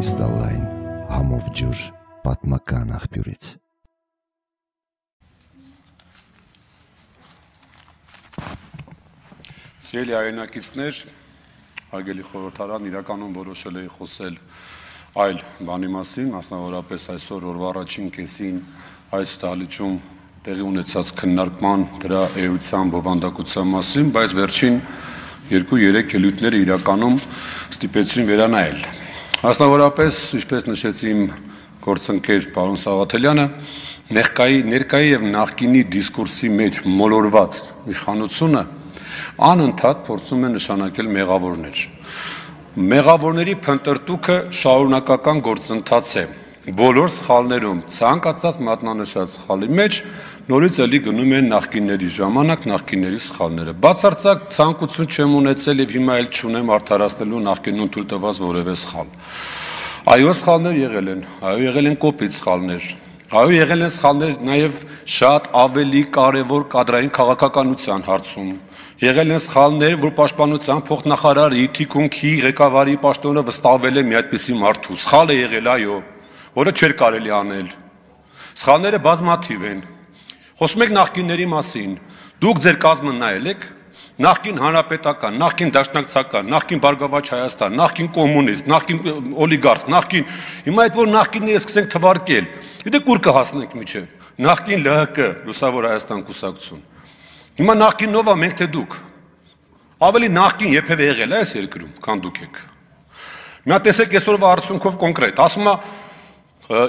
Կրիստալային համով ջուր պատմական աղբյուրից։ Սիրելի հայրենակիցներ, հարգելի խորհրդարան, իրականում որոշել էի խոսել այլ բանի մասին, մասնավորապես այսօր օրվա առաջին կեսին այս դահլիճում տեղի ունեցած քննարկման դրա էության բովանդակության մասին, բայց վերջին 2-3 ելույթները իրականում ստիպեցին վերանայել։ Մասնավորապես, ինչպես նշեց իմ գործընկեր պարոն Սաղաթելյանը, ներկայի եւ նախկինի դիսկուրսի մեջ մոլորված իշխանությունը անընդհատ փորձում է նշանակել մեղավորներ։ Մեղավորների փնտրտուքը շարունակական գործընթաց է։ Բոլոր սխալներում ցանկացած մատնանշած սխալի մեջ նորից էլի գնում են նախկինների ժամանակ, նախկինների սխալները։ Բացարձակ ցանկություն չեմ ունեցել եւ հիմա էլ չունեմ արդարացնելու նախկինում թույլ տված որևէ սխալ։ Այո, սխալներ եղել են, այո, եղել են կոպիտ սխալներ։ Այո, եղել են սխալներ նաեւ շատ ավելի կարեւոր կադրային քաղաքականության հարցում։ Եղել են սխալներ, որ պաշտպանության փոխնախարարի թիկունքի ղեկավարի պաշտոնը վստահվել է մի այդպիսի մարդու։ Սխալ է եղել, այո, որը չէր կարելի անել։ Սխալները բազմաթիվ են։ Խոսում եք նախկինների մասին։ Դուք ձեր կազմը նայել եք, նախկին հանրապետական, նախկին դաշնակցական, նախկին Բարգավաճ Հայաստան, նախկին կոմունիստ, նախկին օլիգարխ, նախկին, հիմա այդ որ նախկինները սկսենք թվարկել, գիտեք ուր կհասնենք միջև, նախկին ԼՀԿ, Լուսավոր Հայաստան կուսակցություն։ Հիմա նախկինով է մենք թե դուք։ Ավելի նախկին երբևէ եղել է այս երկրում, քան դուք եք։ Մի հատ տեսեք այսօրվա արդյունքով կոնկրետ, ասում է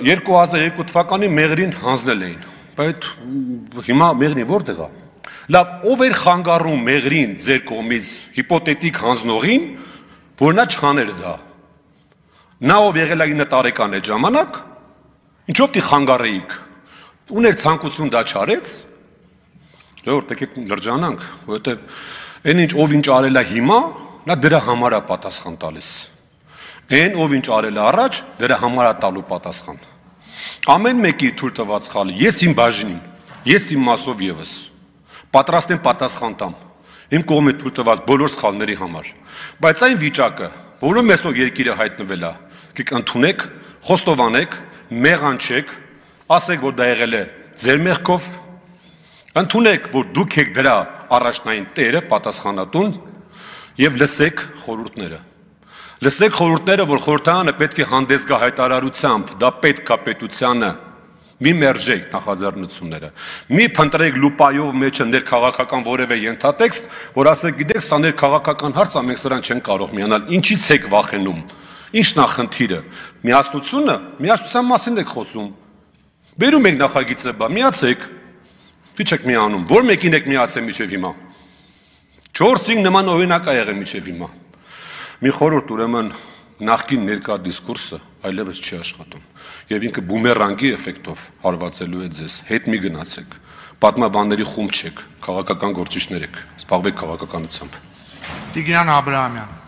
2002 թվականի մեղրին հանձնել էին, բայց հիմա մեղրին որտեղ է։ Լավ, ով էր խանգարում մեղրին ձեր կողմից հիպոթետիկ հանձնողին, որ նա չաներ դա։ Նա ով եղել է 9 տարեկան այդ ժամանակ, ինչով դի խանգարեիք։ Ուներ ցանկություն դա չարեց։ Դե եկեք լրջանանք, որովհետև այն ինչ ով ինչ արել է հիմա, նա դրա համար է պատասխան տալիս։ Այն ով ինչ արել է առաջ, դրա համար է տալու պատասխան։ Ամեն մեկի թույլ տված սխալը, ես իմ բաժինին, ես իմ մասով եւս պատրաստ եմ պատասխան տամ։ Իմ կողմից թույլ տված բոլոր սխալների համար։ Բայց այն վիճակը, որում այսօր երկիրը հայտնվել է, դուք ընդունեք, խոստովանեք, մեղանչեք, ասեք, որ դա եղել է ձեր մեղքով, ընդունեք, որ դուք եք դրա առաջնային տերը, պատասխանատուն եւ լսեք խորհուրդները։ Լսեք խորհուրդները, որ խորհրդարանը պետք է հանդես գա հայտարարությամբ, դա պետք է պետությանը, մի մերժեք նախաձեռնությունները, մի փնտրեք լուպայով մեջը ներքաղաքական որևէ ենթատեքստ, որ ասեք, գիտեք, սա ներքաղաքական հարց է, մենք սրան չենք կարող միանալ, ինչից եք վախենում, ինչն է խնդիրը, միասնությունը, միասնության մասին եք խոսում, բերում եք նախագիծը, միացեք, ինչ եք միանում, որ մեկին եք միացել մինչև հիմա, 4-5 նման օրինակ ա եղել մինչև հիմա, մի խորհուրդ ուրեմն նախկին ներկա դիսկուրսը այլևս չի աշխատում եւ ինքը բումերանգի էֆեկտով հարվածելու է ձեզ, հետ մի գնացեք, պատմաբանների խումբ չեք, քաղաքական գործիչներ եք, զբաղվեք քաղաքականությամբ։ Տիգրան Աբրահամյան